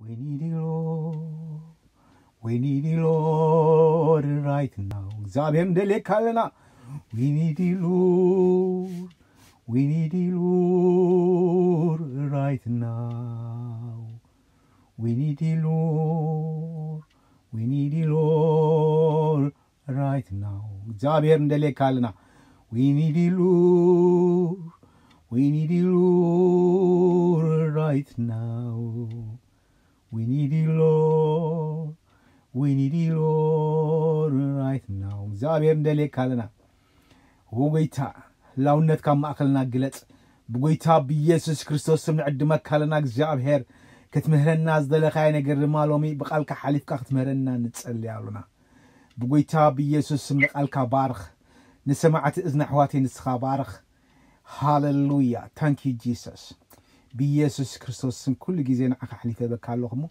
We need you, Lord. We need you, Lord, right now. እግዚኣብሔር ንደልየካ ኣለና። We need you, Lord. We need you, Lord, right now. We need you, Lord. We need you, Lord, right now. እግዚኣብሔር ንደልየካ ኣለና። We need you, Lord. We need you, Lord, right now. We need you, Lord. We need you, Lord, right now. እግዚኣብሔር ንደልየካ ኣለና። ኦ ጎይታ፣ ህላውነትካ ኣብ ማእከልና ግለጽ። ብጎይታ ብኢየሱስ ክርስቶስ ስም ንዕድመካ ኣለና። እግዚኣብሔር፣ ክትምህረና ዝደለኻዮ ነገር ድማ ሎሚ ብቓልካ ሓሊፍካ ክትምህረና ንጸሊ ኣሎና። ብጎይታ ብኢየሱስ ስም ንቓልካ ባርኽ። ንሰማዕቲ እዝኒ ኣሕዋተይ ንስኻ ባርኽ። ሃለሉያ። ታንክ ዩ ጂሰስ። ብኢየሱስ ክርስቶስ ስም ኩሉ ግዜ ንዓኻ ኣሕሊፈ ህበካ ኣለኹ እሞ፣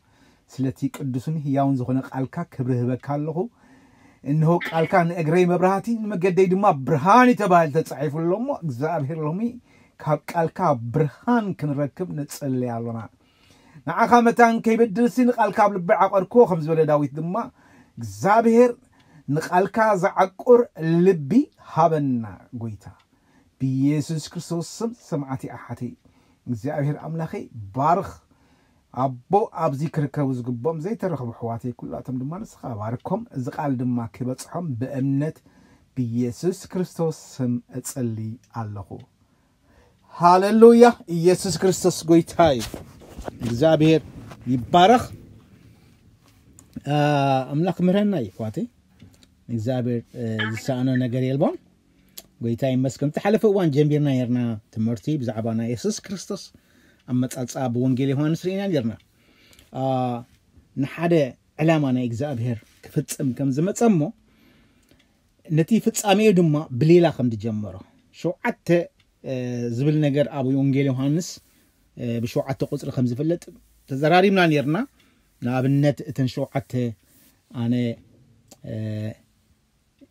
ስለቲ ቅዱስን ህያውን ዝኾነ ቃልካ ክብሪ ህበካ ኣለኹ። እንሆ ቃልካ ንእግረይ መብራህቲ ንመገደይ ድማ ብርሃን እዩ ተባሂሉ ተጻሒፉ ኣሎ እሞ፣ እግዚኣብሔር ሎሚ ካብ ቃልካ ብርሃን ክንረክብ ንጽሊ ኣሎና። ንዓኻ መታን ከይበድልሲ ንቃልካ ኣብ ልቢ ዓቐርክዎ ከም ዝበለ ዳዊት ድማ፣ እግዚኣብሔር ንቃልካ ዝዓቁር ልቢ ሃበና ጎይታ። ብኢየሱስ ክርስቶስ ስም ሰማዕቲ ኣሓተይ እግዚኣብሔር ኣምላኸይ ባርኽ። ኣቦ ኣብዚ ክርከቡ ዝግብኦም ዘይተረኽቡ ኣሕዋተይ ኩላቶም ድማ ንስኻ ባርኮም። እዚ ቃል ድማ ክበጽሖም ብእምነት ብኢየሱስ ክርስቶስ ስም እጸሊ ኣለኹ። ሃለሉያ። ኢየሱስ ክርስቶስ ጎይታ እዩ። እግዚኣብሔር ይባረኽ። ኣምላኽ ምህረና እዩ ኣሕዋተይ። እግዚኣብሔር ዝሰኣኖ ነገር የልቦን። ጎይታ ይመስገን። ዝሓለፈ እዋን ጀሚርና ነርና ትምህርቲ ብዛዕባ ናይ የሱስ ክርስቶስ ኣመጻጽኣ ብወንጌል ዮሃንስ ርኢና ነርና። ንሓደ ዕላማ ናይ እግዚኣብሔር ክፍጽም ከም ዝመጸ እሞ ነቲ ፍጻሜኡ ድማ ብሌላ ከም ዝጀመሮ ሸውዓተ ዝብል ነገር ኣብ ወንጌል ዮሃንስ ብሸውዓተ ቁጽሪ ከም ዝፍለጥ ተዘራሪብና ነርና። ንኣብነት እተን ሸውዓተ ኣነ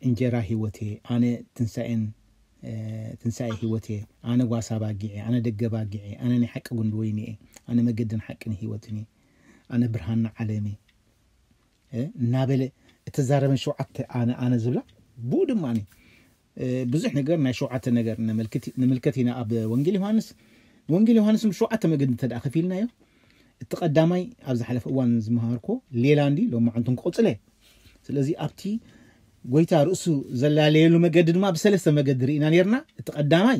እንጀራ ህይወት እየ፣ ኣነ ትንሳኤን ትንሳኤ ህይወት እየ፣ ኣነ ጓሳ ባጊዕ እየ፣ ኣነ ደገ ባጊዕ እየ፣ ኣነ ናይ ሓቂ ጉንዲ ወይኒ እየ፣ ኣነ መገድን ሓቅን ህይወትን እየ፣ ኣነ ብርሃን ዓለም እየ እናበለ እተዛረበን ሸውዓተ ኣነ ኣነ ዝብላ ብኡ ድማ ብዙሕ ነገር ናይ ሸውዓተ ነገር ንምልከት ኢና ኣብ ወንጌል ዮሃንስ። ንወንጌል ዮሃንስ ብሸውዓተ መገዲ እንተ ከፊልናዮ እቲ ቀዳማይ ኣብ ዝሓለፈ እዋን ዝመሃርኮ ሌላ እንዲ ሎማዓንቱን ክቕፅለ። ስለዚ ኣብቲ ጎይታ ርእሱ ዘላለየሉ መገዲ ድማ ብሰለስተ መገዲ ርኢና ነርና። እቲ ቀዳማይ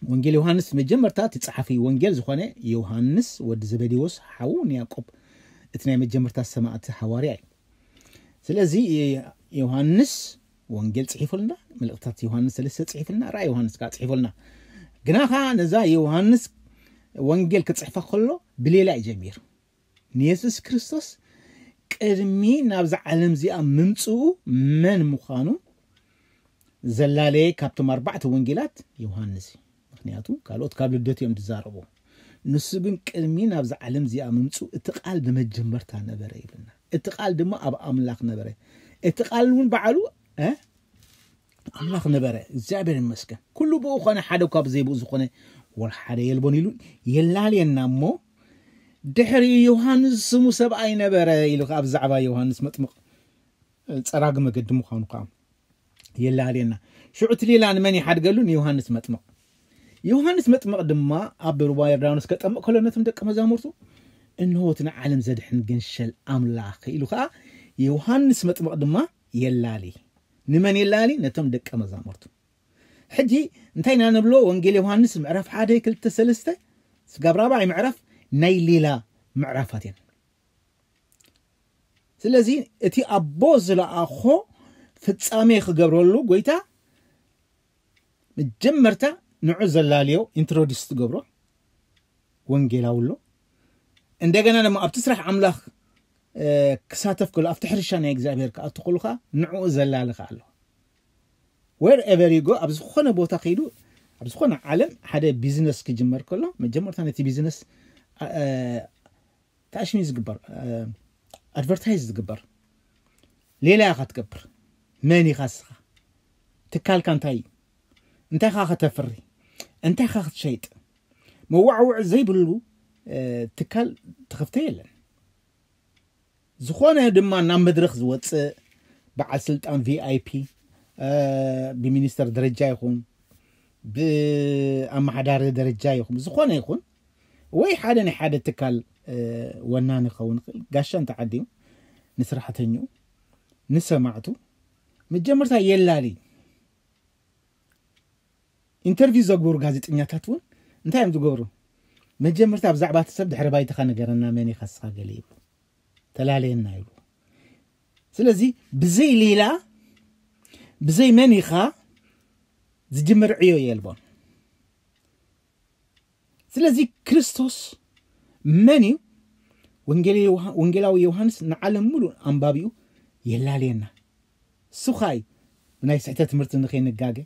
ወንጌል ዮሃንስ መጀመርታ እቲ ጸሓፊ ወንጌል ዝኾነ ዮሃንስ ወዲ ዘበዴዎስ ሓዉ ንያቆብ እቲ ናይ መጀመርታ ሰማዕቲ ሃዋርያ እዩ። ስለዚ ዮሃንስ ወንጌል ጽሒፉልና፣ መልእክታት ዮሃንስ ሰለስተ ጽሒፉልና፣ ራእይ ዮሃንስ ከዓ ጽሒፉልና። ግና ኸዓ ነዛ ዮሃንስ ወንጌል ክጽሕፋ ከሎ ብሌላ እዩ ጀሚሩ። ንየሱስ ክርስቶስ ቅድሚ ናብዛ ዓለም እዚኣ ምምጽኡ መን ምዃኑ ዘላለየ ካብቶም ኣርባዕተ ወንጌላት ዮሃንስ እዩ። ምክንያቱ ካልኦት ካብ ልደቱ እዮም ዝዛረቡ። ንሱ ግን ቅድሚ ናብዛ ዓለም እዚኣ ምምጽኡ እቲ ቃል ብመጀመርታ ነበረ ይብልና። እቲ ቃል ድማ ኣብ ኣምላኽ ነበረ። እቲ ቃል እውን ባዕሉ ኣምላኽ ነበረ። እግዚኣብሔር ይመስገን። ኩሉ ብኡ ኾነ፣ ሓደ ካብ ዘይብኡ ዝኾነ ወላ ሓደ የልቦን ኢሉ የላልየና እሞ ድሕሪ ዮሃንስ ስሙ ሰብኣይ ነበረ ኢሉ ኣብ ዛዕባ ዮሃንስ መጥምቕ ጸራጊ መገዲ ምዃኑ ከዓ የላልየና። ሽዑ እቲ ሌላ ንመን ይሓድገሉ? ንዮሃንስ መጥምቕ። ዮሃንስ መጥምቕ ድማ ኣብ ሩባ ዮርዳኖስ ከጠምቕ ከሎ ነቶም ደቀ መዛሙርቱ እንሆ እቲ ንዓለም ዘድሕን ገንሸል ኣምላኽ ኢሉ ከዓ ዮሃንስ መጥምቕ ድማ የላሊ። ንመን የላሊ? ነቶም ደቀ መዛሙርቱ። ሕጂ እንታይ ኢና ንብሎ? ወንጌል ዮሃንስ ምዕራፍ ሓደ፣ ክልተ፣ ሰለስተ ስጋብ ራብዓይ ምዕራፍ ናይ ሌላ ምዕራፋት እየን። ስለዚ እቲ ኣቦ ዝለኣኾ ፍጻሜ ክገብረሉ ጎይታ መጀመርታ ንዑ ዘላልዮ ኢንትሮዲስ ትገብሮ ወንጌላዊ ኣሎ። እንደገና ድማ ኣብቲ ስራሕ ኣምላኽ ክሳተፍ ከሎ ኣብቲ ሕርሻ ናይ እግዚኣብሔር ክኣቱ ከሉ ከዓ ንዕኡ ዘላሊ ከዓ ኣሎ። Wherever you go፣ ኣብ ዝኾነ ቦታ ከይዱ ኣብ ዝኾነ ዓለም ሓደ ቢዝነስ ክጅመር ከሎ መጀመርታ ነቲ ቢዝነስ ታሽሚ ዝግበር ኣድቨርታይዝ ዝግበር ሌላ ኢኻ ትገብር። መን ኢኻ እስኻ? ትካልካ እንታይ እዩ? እንታይ ኢኻ ከተፍሪ? እንታይ ኢኻ ክትሸይጥ? መዋዕውዕ ዘይብሉ ትካል ተኸፍተ የለን። ዝኾነ ድማ ናብ መድረኽ ዝወፅእ በዓል ስልጣን ቪኣይፒ፣ ብሚኒስተር ደረጃ ይኹን ብኣመሓዳሪ ደረጃ ይኹን ዝኾነ ይኹን ወይ ሓደ ናይ ሓደ ትካል ወናኒ ክኸውን ይኽእል፣ ጋሻ እንተዓዲሙ ንስራሕተኛኡ ንሰማዕቱ መጀመርታ የላሊ። ኢንተርቪው ዘግበሩ ጋዜጠኛታት እውን እንታይ እዮም ዝገብሩ? መጀመርታ ብዛዕባ እቲ ሰብ ድሕሪ ባይታኻ ንገረና፣ መን ኢኻ ንስኻ ገለ ይብሉ፣ ተላለየና ይብሉ። ስለዚ ብዘይ ሌላ ብዘይ መን ኢኻ ዝጅምር ዕዮ የልቦን። ስለዚ ክርስቶስ መን እዩ? ወንጌላዊ ዮሃንስ ንዓለም ሙሉእ ኣንባቢኡ የላልየና። እሱ ኸኣ እዩ ብናይ ስሕተት ትምህርቲ ንኸይንጋገ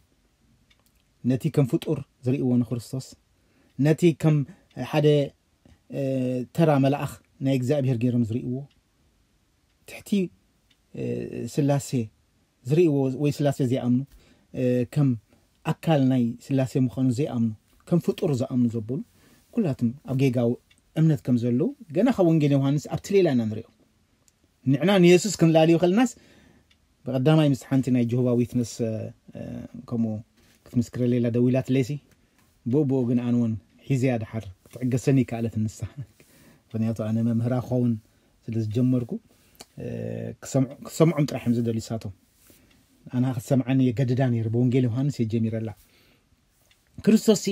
ነቲ ከም ፍጡር ዝርእይዎ ንክርስቶስ፣ ነቲ ከም ሓደ ተራ መልኣኽ ናይ እግዚኣብሔር ገይሮም ዝርእይዎ፣ ትሕቲ ስላሴ ዝርእይዎ ወይ ስላሴ ዘይኣምኑ፣ ከም ኣካል ናይ ስላሴ ምዃኑ ዘይኣምኑ፣ ከም ፍጡር ዝኣምኑ ዘበሉ ኩላትም ኣብ ጌጋዊ እምነት ከም ዘለዉ ገና ካብ ወንጌል ዮሃንስ ኣብቲ ሌላ ኢና ንሪኦ። ንዕና ንየሱስ ክንላልዮ ከለናስ ብቐዳማይ ምስ ሓንቲ ናይ ጀሆቫ ዊትነስ ከምኡ ክትምስክረ ሌላ ደዊላት ሌሲ ብኡ ብኡ ግን ኣነ እውን ሒዘያ ድሓር ክትዕገሰኒ ይከኣለት ንሳ። ምክንያቱ ኣነ መምህራ ክኸውን ስለ ዝጀመርኩ ክሰምዖም ጥራሕ እዮም ዝደልዩ ሳቶም። ኣና ክትሰምዓኒ የገድዳ ነይሩ። ብወንጌል ዮሃንስ የጀሚረላ። ክርስቶስ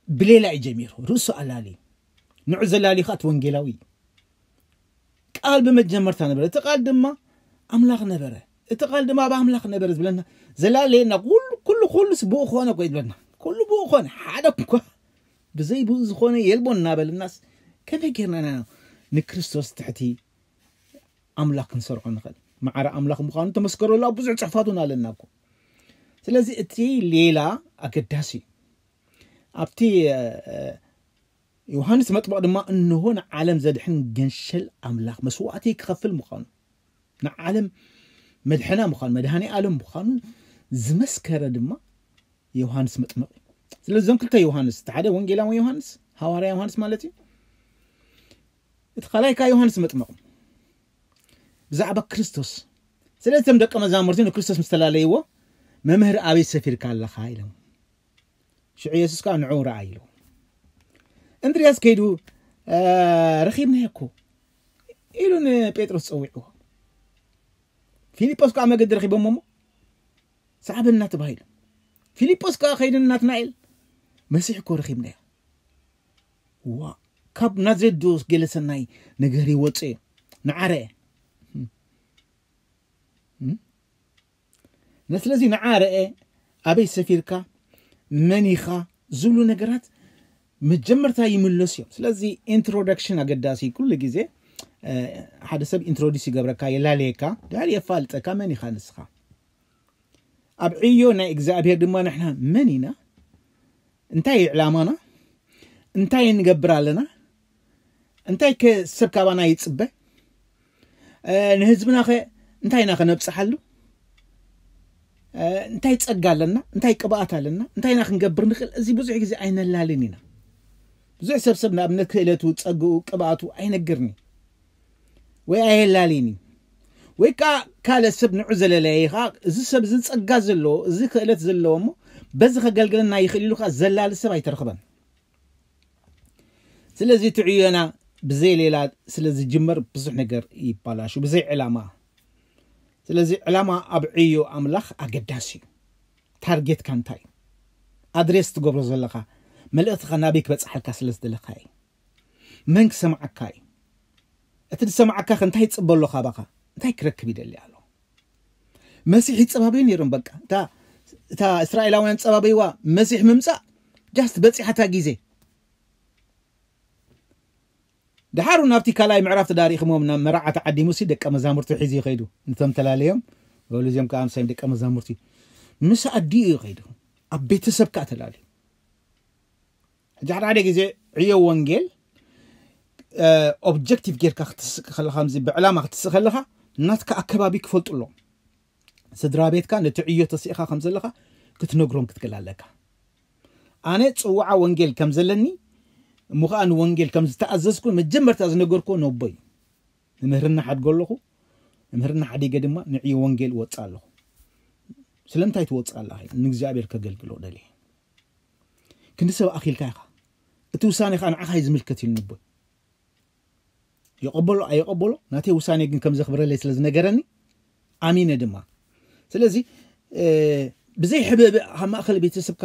ብሌላ እዩ ጀሚሩ፣ ርእሱ ኣላሊ። ንዑ ዘላሊ ከዓ እቲ ወንጌላዊ እዩ። ቃል ብመጀመርታ ነበረ፣ እቲ ቃል ድማ ኣምላኽ ነበረ፣ እቲ ቃል ድማ ኣብ ኣምላኽ ነበረ ዝብለና ዘላለየና ኩሉ ኩሉ ኩሉስ ብኡ ኮነ እኮ ዝብለና። ኩሉ ብኡ ኮነ፣ ሓደ እኳ ብዘይ ብኡ ዝኾነ የልቦ እናበለናስ ከመይ ጌርና ኢና ንክርስቶስ ትሕቲ ኣምላኽ ክንሰርዖ ንኽእል? ማዕረ ኣምላኽ ምዃኑ ተመስከረሉ ኣብ ብዙሕ ጽሕፋቱን ኣለና እኮ። ስለዚ እቲ ሌላ ኣገዳሲ እዩ። ኣብቲ ዮሃንስ መጥምቕ ድማ እንሆ ንዓለም ዘድሕን ገንሸል ኣምላኽ መስዋእቲ ክኸፍል ምዃኑ፣ ንዓለም መድሕና ምዃኑ፣ መድሃኒ ዓለም ምዃኑ ዝመስከረ ድማ ዮሃንስ መጥምቕ እዩ። ስለዚ እዞም ክልተ ዮሃንስ፣ እቲ ሓደ ወንጌላዊ ዮሃንስ፣ ሃዋርያ ዮሃንስ ማለት እዩ፣ እቲ ካልኣይ ከኣ ዮሃንስ መጥምቕ ብዛዕባ ክርስቶስ። ስለዚ እቶም ደቀ መዛሙርቲ ንክርስቶስ ምስ ተላለይዎ፣ መምህር ኣበይ ሰፊርካ ኣለኻ ኢሎም። ሽዑ የሱስ ከኣ ንዑ ረኣ ኢሉ። እንድርያስ ከይዱ ረኺብናዮ እኮ ኢሉ ንጴጥሮስ ጸዊዕዎ። ፊልጶስ ከኣ መገዲ ረኺቦሞ እሞ ሰዓበና ተባሂሉ። ፊልጶስ ከኣ ከይዱ ናትናኤል መሲሕ እኮ ረኺብናዮ። ዋ ካብ ናዝሬት ዶ ገለ ሰናይ ነገር ይወፅእ? ንዓረ ስለዚ ንዓ ረአ፣ ኣበይ ሰፊርካ፣ መን ኢኻ ዝብሉ ነገራት መጀመርታ ይምለሱ እዮም። ስለዚ ኢንትሮዳክሽን ኣገዳሲ። ኩሉ ግዜ ሓደ ሰብ ኢንትሮዲስ ይገብረካ፣ የላለየካ፣ ድሕሪ የፋልጠካ መን ኢኻ ንስኻ። ኣብ ዕዮ ናይ እግዚኣብሔር ድማ ንሕና መን ኢና፣ እንታይ እዩ ዕላማና፣ እንታይ ንገብር ኣለና፣ እንታይ ከ ሰብ ካባና ይጽበ፣ ንህዝብና ኸ እንታይ ኢና ከነብጽሓሉ፣ እንታይ ጸጋ ኣለና፣ እንታይ ቅብኣት ኣለና፣ እንታይ ኢና ክንገብር ንኽእል፣ እዚ ብዙሕ ግዜ ኣይነላልን ኢና። ብዙሕ ሰብ ሰብ ንኣብነት ክእለቱ፣ ጸግኡ፣ ቅብኣቱ ኣይነግርኒ ወይ ኣየላልኒ። ወይ ከዓ ካልእ ሰብ ንዑ ዘለለየ ከዓ እዚ ሰብ እዚ ጸጋ ዘለዎ፣ እዚ ክእለት ዘለዎ እሞ በዚ ከገልግለና ይኽእል ኢሉ ከዓ ዘላሊ ሰብ ኣይተረኽበን። ስለዚ እቲ ዕዮና ብዘይ ሌላ ስለ ዝጅመር ብዙሕ ነገር ይባላሹ፣ ብዘይ ዕላማ። ስለዚ ዕላማ ኣብ ዕዮ ኣምላኽ ኣገዳሲ እዩ። ታርጌትካ እንታይ እዩ? ኣድሬስ ትገብሮ ዘለኻ መልእኽትኻ ናበይ ክበጽሓልካ ስለ ዝደለኻ እዩ። መን ክሰምዓካ እዩ? እቲ ዝሰምዓካ ከ እንታይ ይጽበ ኣሎ ካባኻ? እንታይ ክረክብ ይደሊ ኣሎ? መሲሕ ይጸባበዩ ነይሮም። በቃ እታ እታ እስራኤላውያን ጸባበይዋ መሲሕ ምምጻእ ጃስት በጺሓታ ግዜ። ድሓሩ ናብቲ ካልኣይ ምዕራፍ ተዳሪኽሞም ናብ መርዓ ተዓዲሙ ሲ ደቀ መዛሙርቱ ሒዙ ይኸይዱ። ንቶም ተላለዮም በሉ እዚኦም ከዓ ምሳይ ደቀ መዛሙርቲ ምስ ኣዲኡ ይኸይዱ። ኣብ ቤተሰብ ከዓ ተላለዩ። ሕጂ ሓደ ሓደ ግዜ ዕዮ ወንጌል ኦብጀክቲቭ ጌርካ ክትስእ ከለኻ፣ ከምዚ ብዕላማ ክትስእ ከለኻ ናትካ ኣከባቢ ክፈልጡ ኣለዎም። ስድራ ቤትካ ነቲ ዕዮ ተሲእኻ ከም ዘለኻ ክትነግሮም ክትክእል ኣለካ። ኣነ ጽዋዓ ወንጌል ከም ዘለኒ እሞ ከዓ ንወንጌል ከም ዝተኣዘዝኩ መጀመርታ ዝነገርኩዎ ነቦይ። ንምህርና ሓድጎ ኣለኹ። ንምህርና ሓዲገ ድማ ንዕዮ ወንጌል እወፅእ ኣለኹ። ስለምንታይ ትወፅእ ኣለኻ? ንእግዚኣብሔር ከገልግሎ ደልየ። ክንዲ ሰብ ኣኺልካ ኢኻ። እቲ ውሳኔ ከዓ ንዓኻ እዩ ዝምልከት ኢሉ ነቦይ። የቐበሎ ኣይቐበሎ፣ ናተይ ውሳኔ ግን ከም ዘኽብረለይ ስለ ዝነገረኒ ኣሚነ ድማ። ስለዚ ብዘይ ሕብእብእ ኣብ ማእኸል ቤተሰብካ